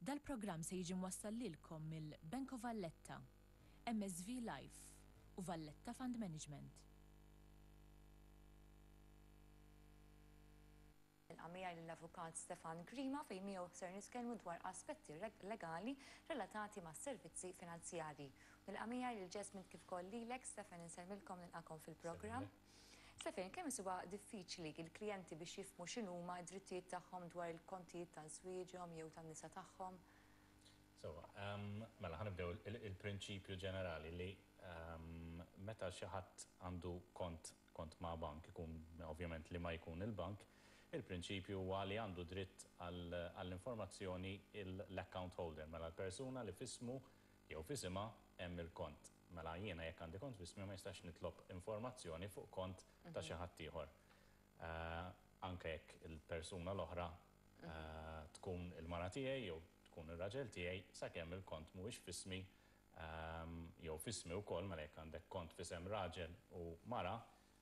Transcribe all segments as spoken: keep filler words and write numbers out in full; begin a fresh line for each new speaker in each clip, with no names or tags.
Dal-programm se jiġi mwassal lilkom mill-Bank of Valletta, M S V Life u Valletta Fund Management.
Nilqa' miegħi lill-Avukat Stefan Grima, fejn miegħu ser nitkellmu dwar aspetti legali relatati ma' servizzi finanzjarji. Nilqa' miegħi lil Jasmine kif ukoll lilek, Stefan, insellmilkom, nilqakom fil-programm. Stefan, kemm huwa diffiċli il-klijenti biex jifhmu x'inhuma d-drittijiet tagħhom dwar il-kontijiet ta' żwieġhom jew tan-nisa tagħhom?
So, um, mela ħa nibdew il-prinċipju ġenerali li um, meta xi ħadd għandu kont kont ma' bank, ikun ovvjament li ma jkun il-bank, il-prinċipju huwa li għandu dritt għall-informazzjoni l-account holder, mela l-persuna li f'ismu jew f'isimha hemm il-kont. Mela jiena jekk għandi kont f'ismi, ma jistax nitlob informazzjoni fuq kont ta' xi ħadd ieħor. Eh, anke jekk il-persuna l-oħra eh, tkun il-mara tiegħi jew tkun ir-raġel tiegħi, sakemm il-kont mhuwiex f'ismi ehm, jew f'ismi wkoll. Mela jekk għandek kont f'isem raġel u mara,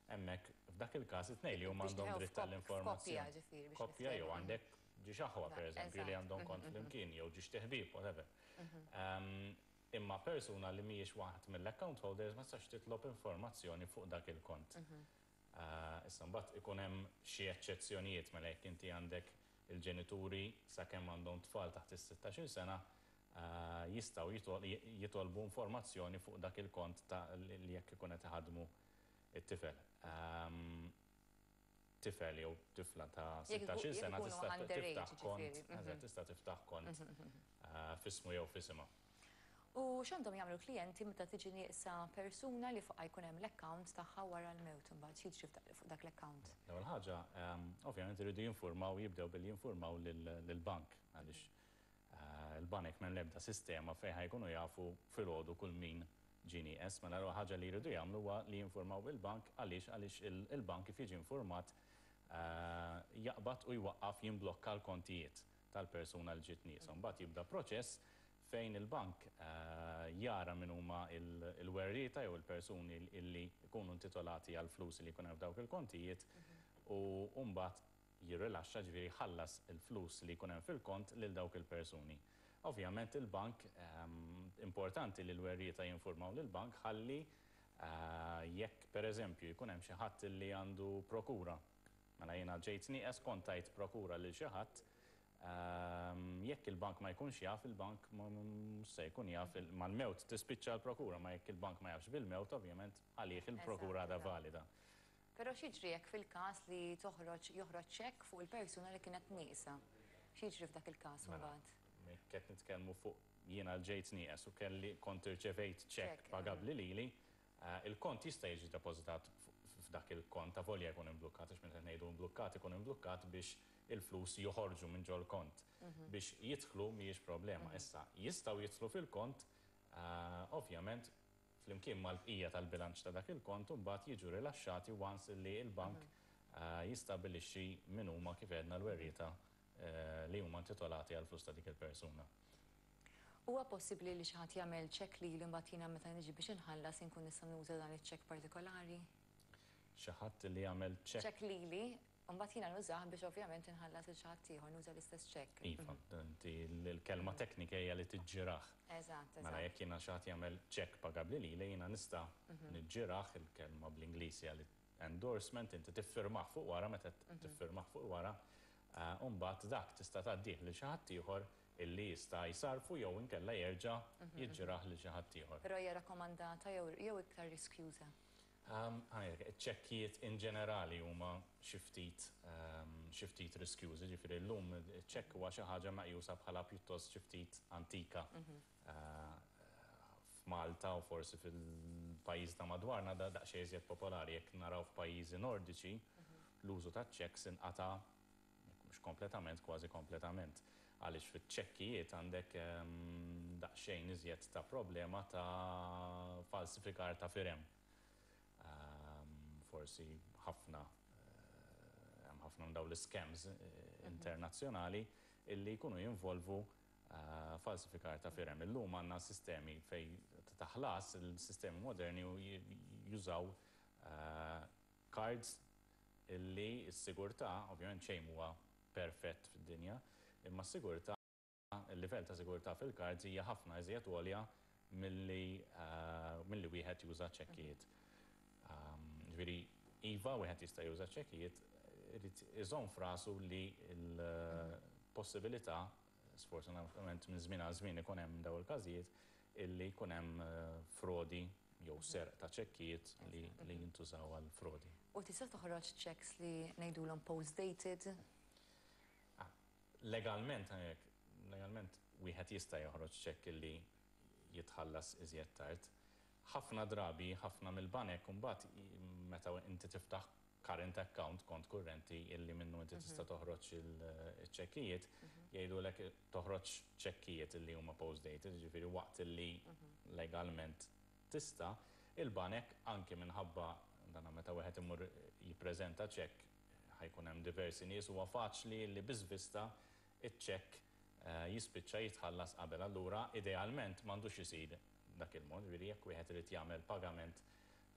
hemmhekk f'dak il-każ it-tnejn li huma għandhom dritt tal-informazzjoni. Koppja jew għandek żewġt aħwa, per eżempju, li għandhom kont mhm, mhm. flimkien jew żewġt iħbieb, whatever. Mhm. Ehm, imma persuna li mhijiex waħed mill-account holders ma tistax titlob informazzjoni fuq dak il-kont. Eh, issa mbagħad ikun hemm xi eċċezzjonijiet, mela jekk inti għandek il-ġenituri, sakemm għandhom tfal taħt is-sittax-il sena, eh, jistgħu jitolbu informazzjoni fuq dak il-kont ta' li jekk ikun qed iħadmu it-tifel. Ehm, tifel jew tifla ta' sittax-il sena tista' tiftaħ kont, mhm. tista' tiftaħ kont mhm. eh, f'ismu jew f'isimha.
U x'għandhom jagħmlu klijenti meta tiġi nieqsa persuna li fuqha jkun hemm l-account tagħha wara l-mewt imbagħad? X'jiġri fuq dak l-account?
L-ewwel ħaġa, ehm, ovvjament iridu jinformaw, jibdew billi jinformaw lill-bank, għaliex eh, il-banek m'hemm l-ebda sistema fejn ħa jkunu jafu filgħodu kull min ġie nieqes. Mela l ħaġa li jridu jagħmlu huwa li jinformaw il-bank. Għaliex? Għaliex il-bank kif jiġi informat eh, jaqbad u jwaqqaf, jimblokka l-kontijiet tal-persuna li ġiet nieqsa. Mbagħad jibda proċess fejn il-bank eh, jara min huma il-werrieta jew il-persuni illi jkunu intitolati għal flus li jkun hemm f'dawk il-kontijiet u mbagħad jirrilaxxa, ġifieri ħallas il-flus li jkun hemm fil-kont lil dawk il-persuni. Ovvjament il-bank, ehm, importanti li l-werrieta jinformaw lill-bank ħalli eh, jekk per eżempju jkun hemm xi ħadd li għandu prokura. Mela jiena ġejt nieqes, kont tajt prokura lil xi ħadd, ehm, jekk il-bank ma jkunx jaf, il-bank mhux se jkun jaf, mal-mewt tispiċċa l-prokura, ma jekk il-bank ma jafx bil-mewt, ovvjament għalih il-prokura għadha valida.
Però x'jiġri jekk fil-każ li toħroġ joħroġ ċekk fuq il-persuna li kienet nieqsa? X'jiġri f'dak il-każ
Mela,
mbagħad?
qed nitkellmu fuq jiena ġejt nieqes u kelli kont irċevejt ċekk pagabbli lili, eh, il-kont jista' jiġi depożitat f'dak il-kont ta' volja jkun imblukkat, għax meta ngħidu imblukkat, ikun imblukkat biex il-flus joħorġu minn ġol kont. Mhm. Biex jidħlu mhijiex problema. Mhm. Issa jistgħu jidħlu fil-kont, eh, ovvjament flimkien mal-bqija tal-bilanċ ta' dak il-kont, u mbagħad jiġu rilaxxati once li il-bank mhm. eh, jistabilixxi min huma, kif għedna, l-werrieta Eh, li huma intitolati għal flus ta' dik il-persuna.
Huwa possibbli li xi ħadd jagħmel ċekk li mbagħad jiena meta niġi biex inħallas inkun nista' nuża dan iċ-ċekk partikolari?
Xi ħadd li jagħmel ċekk?
Ċekk lili, mbagħad jiena nużah biex ovvjament inħallas il xi ħadd ieħor, nuża l-istess ċekk.
Iva, inti l-kelma teknika hija li tiġġirah.
Eżatt,
Mela jekk jiena xi ħadd jagħmel ċekk pagabbli lili, jiena nista' mhm. niġġirah, il-kelma bl-Ingliż hija li endorsement, inti tiffirmah fuq wara, meta mhm. tiffirmah fuq wara, Eh, Umbagħad dak tista' tgħaddih lil xi ħadd ieħor illi jista' jsarfu jew inkella jerġa' mhm. jiġġirah lil xi ħadd ieħor.
Però hija rakkomandata jew jew iktar riskjuża?
Ċekkijiet in ġenerali huma xi ftit ehm, xi ftit riskjużi, ġifieri llum ċekk huwa xi ħaġa meqjusa bħala pjuttost xi ftit antika. Mhm. Eh, F'Malta u forsi fil-pajjiż ta' madwarna da daqsxejn iżjed popolari. Jekk naraw f'pajjiżi nordiċi, mhm. l-użu ta' checks inqata', mhux kompletament, kważi kompletament. Għaliex fiċ-ċekkijiet għandek ehm, daqsxejn iżjed ta' problema ta' falsifikar ta' firem. Ehm, forsi ħafna eh, hemm ħafna minn dawn l-scams eh, mhm. internazzjonali illi jkunu jinvolvu eh, falsifikar ta' firem. Illum għandna sistemi fej ta' ħlas, il-sistemi moderni jużaw cards illi s-sigurtà, ovvjament xejn huwa perfett fid-dinja, imma s-sigurtà il-livell ta' sigurtà fil-cards hija ħafna iżjed għolja milli eh, milli wieħed juża ċekkijiet. Um, Ġifieri, iva, wieħed jista' juża ċekkijiet, irid iżomm f'rasu li l-possibilità, sfortunatament minn żmien għal żmien ikun hemm daw il-każijiet, illi jkun hemm eh, frodi jew serq ta' ċekkijiet li, li jintużaw għal frodi.
U tista' toħroġ checks li ngħidulhom post-dated?
Ah, Legalment, hekk, legalment wieħed jista' joħroġ ċekk illi jitħallas iżjed tard. Ħafna drabi, ħafna mill-banek mbagħad i- meta inti tiftaħ current account, kont kurrenti illi minnu inti tista' toħroġ il-ċekkijiet, jgħidulek toħroġ ċekkijiet illi huma post-dated, ġifieri waqt illi legalment tista', il-banek anki minħabba dana meta wieħed imur jippreżenta ċekk ħa jkun hemm diversi nies, huwa faċli li bi żvista iċ-ċekk eh, jispiċċa jitħallas qabel. Allura idealment m'għandux isir dak il-mod, ġifieri jekk wieħed irid jagħmel pagament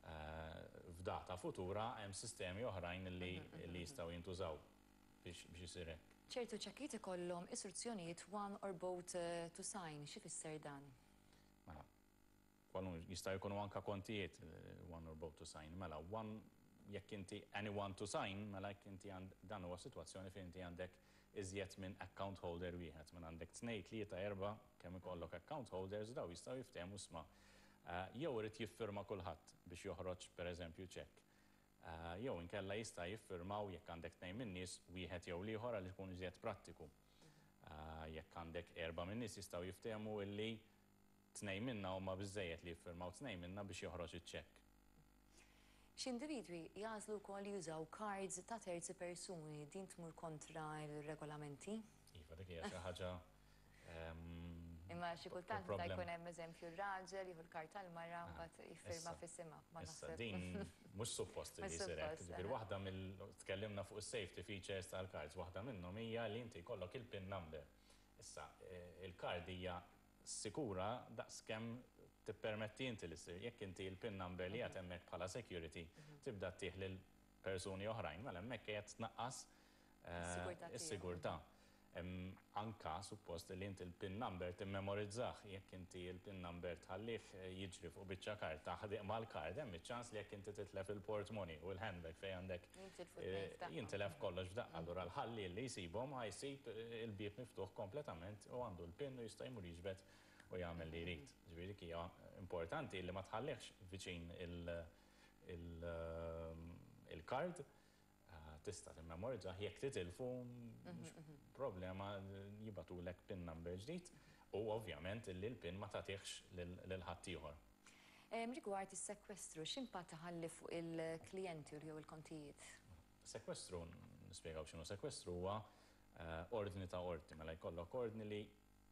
eh, f'data futura, hemm sistemi oħrajn li li jistgħu jintużaw biex biex isir hekk.
Ċertu ċekkijiet ikollhom istruzzjonijiet "one or both eh, to sign", xi fisser dan?
Mela, kwalun jista' jkunu anka kontijiet eh, "one or both to sign". Mela, one jekk inti "anyone to sign", mela jekk inti għand dan huwa sitwazzjoni fejn inti għandek iżjed minn account holder wieħed, minn għandek tnejn, tlieta, erba', kemm ikollok account holders, daw jistgħu jiftehmu isma'. Eh, jew irid jiffirma kulħadd biex joħroġ, pereżempju, ċekk. Eh, jew inkella jista' jiffirmaw, jekk għandek tnejn minn nies, wieħed jew l-ieħor għal ikun iżjed prattiku. Eh, jekk għandek erba' minn nies, jistgħu jiftehmu illi tnejn minna huma biżejjed li jiffirmaw tnejn minna biex joħroġ iċ-ċekk.
Xi individwi jagħżlu wkoll jużaw cards ta' terzi persuni, din tmur kontra il-regolamenti?
Iva, dik hija xi ħaġa ehm,
Imma xi kultant meta
problem.
jkun hemm, eżempju, r-raġel jieħu l-kart tal-mara, mbagħad jiffirma
issa.
f'isimha. Ma
Issa,
naħseb.
din mhux suppost li
Mhux
jsir hekk.
suppost,
Ġifieri
eh.
waħda mill tkellimna fuq is-safety features tal-cards, waħda minnhom hija li inti jkollok il-PIN number. Issa, eh, il-card hija sikura daqskemm tippermetti inti li ssir. Jekk inti il-PIN number li qed hemmhekk bħala security tibda ttih lil persuni oħrajn, mela hemmhekk qed tnaqqas eh,
Is-sigurtà tiegħu.
Is-sigurtà. Em, Anka suppost li inti il-PIN number timmemorizzah. Jekk inti il-PIN number tħallih eh, jiġri fuq biċċa karta ħdejk mal-card, hemm iċ-ċans li jekk inti titlef il-portmoni u l-handbag fejn għandek
Jintilfu
eh,
t-tnejn f'daqqa.
Jintilef kollox f'daqqa. Allura l-ħalli li jsibhom ħa jsib eh, il-bieb miftuħ kompletament u għandu l-PIN u jista' jmur jiġbed u jagħmel li jrid. Ġifieri dik hija importanti li ma tħallihx viċin il- il- il-card, eh, tista' timmemorizza, jekk titilfu mhux problema, jibagħtulek PIN number ġdid u ovvjament illi l-PIN ma tagħtihx lil ħaddieħor.
Em, Rigward is-sekwestru, x'impatt ħalli fuq il-klijenti u jew il-kontijiet?
Sekwestru, nispjegaw x'inhu sekwestru, huwa eh, ordni ta' ordni, mela jkollok ordni li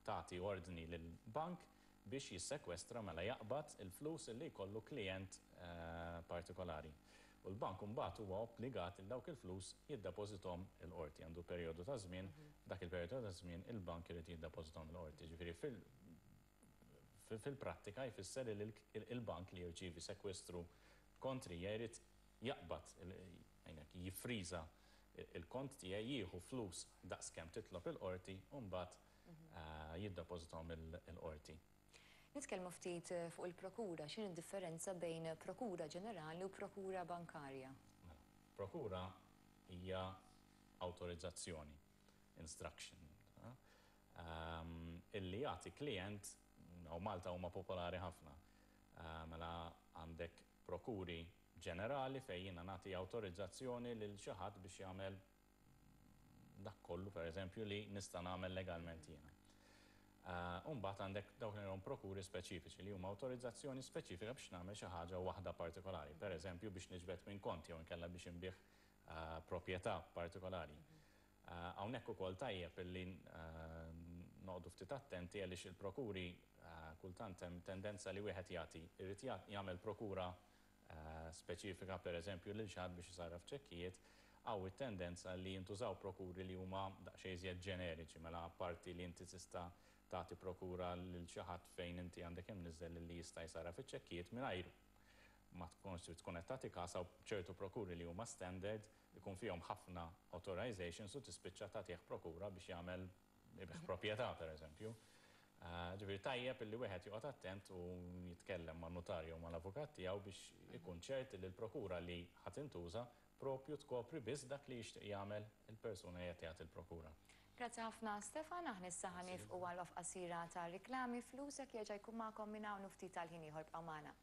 tagħti ordni lil bank biex jissekwestra, mela jaqbad il-flus li jkollu klient eh, partikolari. U l-bank mbagħad huwa obbligat il dawk il-flus jiddepożithom il-qorti. Għandu perjodu ta' żmien, dak il-perjodu ta' żmien il-bank irid jiddepożithom il-qorti. Ġifieri fil- fil-prattika jfisser li il-bank li jirċievi sekwestru kontrija jrid jaqbad, għajnek, jiffriża il-kont tiegħi, jieħu flus daqskemm titlob il-qorti u mbagħad eh, jiddepożithom il-qorti.
Nitkellmu ftit eh, fuq il-prokura, x'inhi d-differenza bejn prokura ġenerali u prokura bankarja?
Mela, prokura hija autorizzazzjoni, instruction, eh, um, illi jagħti klient, u Malta huma popolari ħafna. Eh, Mela għandek prokuri ġenerali fejn jiena nagħti awtorizzazzjoni lil xi ħadd biex jagħmel dak kollu, per eżempju, li nista' nagħmel legalment jiena. Uh, Umbagħad għandek dawk li huma prokuri speċifiċi, li huma awtorizzazzjoni speċifika biex nagħmel xi ħaġa waħda partikolari, per eżempju biex niġbed minn kont jew inkella biex inbigħ uh, proprjetà partikolari. Uh, Hawnhekk ukoll tajjeb illi uh, noqogħdu ftit attenti għaliex il-prokuri uh, kultant hemm tendenza li wieħed jagħti irid jagħmel prokura uh, speċifika, per eżempju, lil xi ħadd biex isarraf ċekkijiet, hawn it-tendenza li jintużaw prokuri li huma daqsxejn iżjed ġeneriċi, mela parti li inti tista' tagħti prokura lil xi ħadd fejn inti għandek imniżżel li jista' jsarraf iċ-ċekkijiet mingħajr ma tkunx tkun qed tagħti każ ċertu prokuri li huma standard ikun fihom ħafna authorizations u tispiċċa tagħtih prokura biex jagħmel ibigħ proprjetà, per eżempju. Ġifieri tajjeb illi wieħed joqgħod attent u jitkellem ma' notarju u mal-avukat tiegħu biex ikun ċert li l-prokura li ħa tintuża propju tkopri biss dak li jixtieq jagħmel il-persuna li qed jagħti l-prokura.
Grazzi ħafna, Stefan. Aħna issa ħa nieqfu għal qasira ta' riklami. Flusek jerġa' jkun magħkom minn hawn ftit tal-ħin ieħor. Bqgħu magħna.